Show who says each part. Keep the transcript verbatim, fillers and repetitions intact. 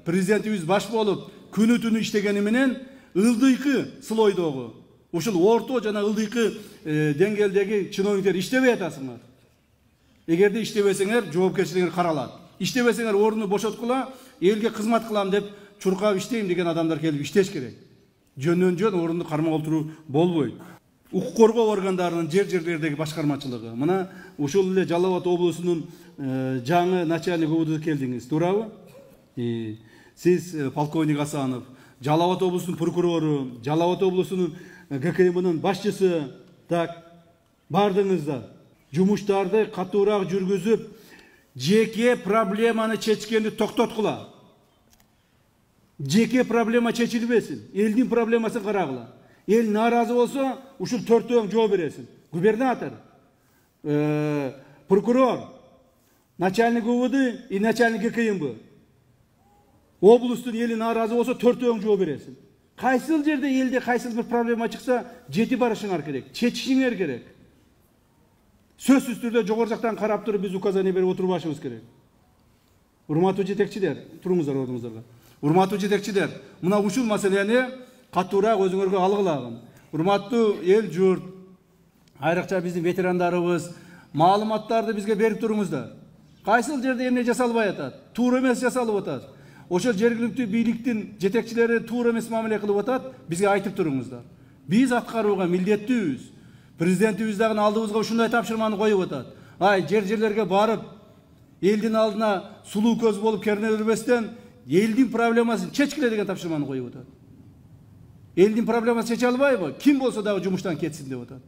Speaker 1: президентибиз баш болуп күнү түнү иштегени менен ылдыйкы слойдогу ушул орто жана ылдыйкы деңгээлдеги чиновниктер иштебей атасыңар. Эгерде иштебесеңер, жоопкерчилигиңер каралат. Иштебесеңер, орунду бошоткула, элге кызмат кылам деп чуркап иштейм деген адамдар келип иштеш керек. Жөндөн жөн орунду кармап отуруу болбойт. Укук коргоо органдарынын жер жерлердеги башкармачылыгы. Мына ушул эле Жалал Абад облусунун жаңы начальник УВД келдиңиз, туурабы? Сиз полковник Асанов, Жалал Абад облусунун прокурору, Жалал Абад облусунун ГКМнын башчысы, так бардыңыздар. Жумуштарды катуураак жүргүзүп, жеке проблеманы чечкенди токтоткула. Жеке проблема чечилбесин, элдин проблемасын карагыла. Эл нааразы болсо, ушул төртөөң жооп бересиң. Губернатор, прокурор, начальник УВД и начальник ГКМБ. Облустун эли нааразы болсо, төртөөң жооп бересиң. Кайсыл жерде элде кайсыл бир проблема чыкса, жети барышыңар керек, чечишиңер керек. Сөзсүз түрдө жогору жактан карап туруп биз указание берип отурбашыбыз керек. Урматтуу жетекчилер, туруңуздар ордуңуздарга. Урматтуу жетекчилер, мына ушул маселени катуураак өзүңөргө алгылагын. Урматтуу эл журт, айрыкча биздин ветерандарыбыз, маалыматтарды бизге берип туруңуздар. Кайсыл жерде эмне жасалбай атат, туура эмес жасалып атат. Ошол жергиликтүү бийликтин жетекчилери туура эмес мамиле кылып атат, бизге айтып туруңуздар. Биз аткарууга милдеттүүбүз. Президентибиз дагы алдыбызга ушундай тапшырманы коюп атат. Ай, жер-жерлерге барып, элдин алдына сулуу көз болуп керне бербестен, элдин проблемасын чечкиле деген тапшырманы коюп атат. Элдин проблемасын чече албайбы? Ким болсо дагы жумуштан кетсин деп атат.